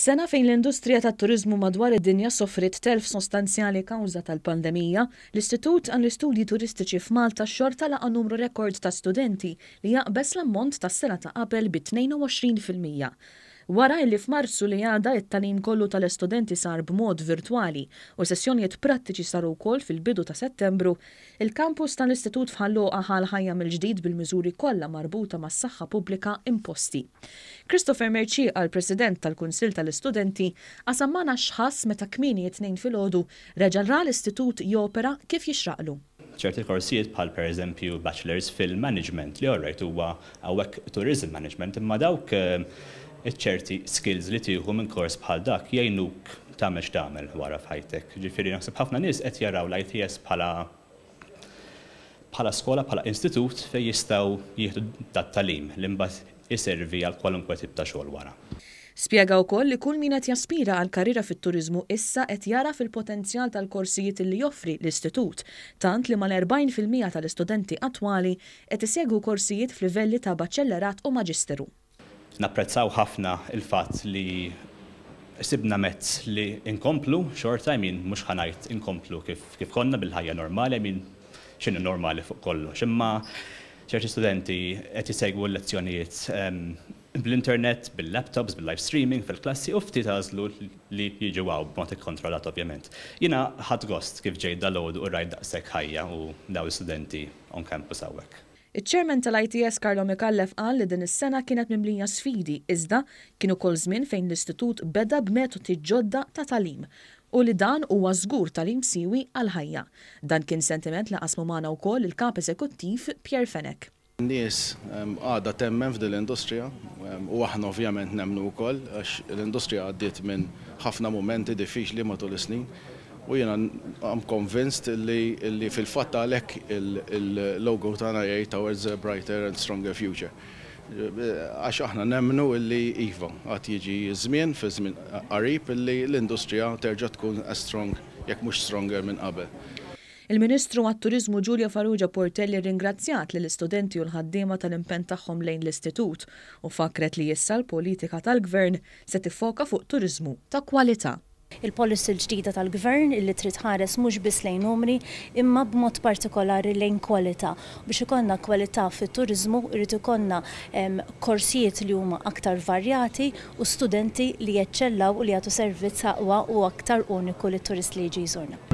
F'sena fejn l-industrija tat-turiżmu madwar id-dinja sofriet telf sostanzjali kawża tal-pandemija, l-Istitut għall-Istudji Turistiċi f'Malta xorta laqa' numru rekord ta' studenti li jaqbeż l-ammont tas-sena ta' qabel bi 22%. Wara illi f'Marzu li għadda it-tagħlim kollu tal-istudenti sar b'mod virtwali u sessjonijiet prattiċi saru wkoll fil-bidu ta' Settembru, il-kampus tal-Istitut f'Ħal Luqa ħa l-ħajja mill-ġdid bil-miżuri kollha marbuta mas-saħħa pubblika imposti. Christopher Mercieca, l-President tal-Kunsill tal-Istudenti, qasam magħna x'ħass meta kmieni it-Tnejn filgħodu reġa' ra l-istitut jopera kif jixraqlu. Ċerti korsijiet bħal pereżempju Bachelor's Film Management li alright huwa hawnhekk Tourism Management imma dawk iċ-ċerti skills li tieħu minn kors bħal dak jgħinuk tagħmel x'tagħmel wara f'ħajtek. Ġifieri naħseb ħafna nies qed jaraw l-ITS bħala bħala skola, bħala istitut fejn jistgħu jieħdu dat-tagħlim li mbagħad iservi għal kwalunkwe tip ta' xogħol wara. Spjega wkoll li kull min qed jaspira għal karriera fit-turiżmu issa qed jara fil-potenzjal tal-korsijiet li joffri l-istitut, tant li mal-40% tal-istudenti attwali qed isegwu korsijiet f'livelli ta' baċellerat u maġisteru. Napprezzaw ħafna il-fatt li sibna mezz li inkomplu xorta, I mean, mhux ħa ngħid inkomplu kif, kif konna bil-ħajja normali, I mean, x'inhu normali fuq kollox. Imma ċerti studenti qed jisegwu l-lezzjonijiet bl-internet, bil-laptops, bil-live streaming fil-klassi u ftit għażlu li jiġu hawn b'mod ikkontrollat ovvjament. Jiena ħadt gost kif ġejt dalgħodu u rajt daqshekk ħajja u daw l-istudenti on campus hawnhekk. Iċ-Chairman tal-ITS Carlo Micallef qal li din is-sena kienet mimlija sfidi iżda kien ukoll żmien fejn l-istitut beda b'metodi ġodda ta' tagħlim u li dan huwa żgur tagħlim siewi għal-ħajja. Dan kien sentiment li qasmu magħna wkoll il-kap eżekuttiv Pierre Fenech. Nies għadha temmen f'din l-industrija u aħna ovvjament nemmnu wkoll għax l-industrija għaddiet minn ħafna mumenti diffiċli matul is-snin u jiena I'm convinced li fil-fatt għalhekk il-logo tagħna jgħid "Towards a brighter and stronger future". Għax aħna nemmnu illi iva, għad jiġi żmien fi żmien qarib illi l-industrija terġa' tkun as strong jekk mhux stronger minn qabel. Il-Ministru għat-Turizmu Julia Farrugia Portelli ringrazzjat lill-istudenti u l-ħaddiema tal-impenn tagħhom lejn l-istitut u fakret li issa l-politika tal-gvern se tiffoka fuq turizmu ta' kwalità. Il-policy l-ġdida tal-gvern illi trid tħares mhux biss lejn numri imma b'mod partikolari lejn kwalità. Biex ikollna kwalità fit-turizmu irid ikollna korsijiet li huma aktar varjati u studenti li jeċċellaw u li jagħtu servizz aqwa u aktar uniku lit-turist li jiġi jżurna.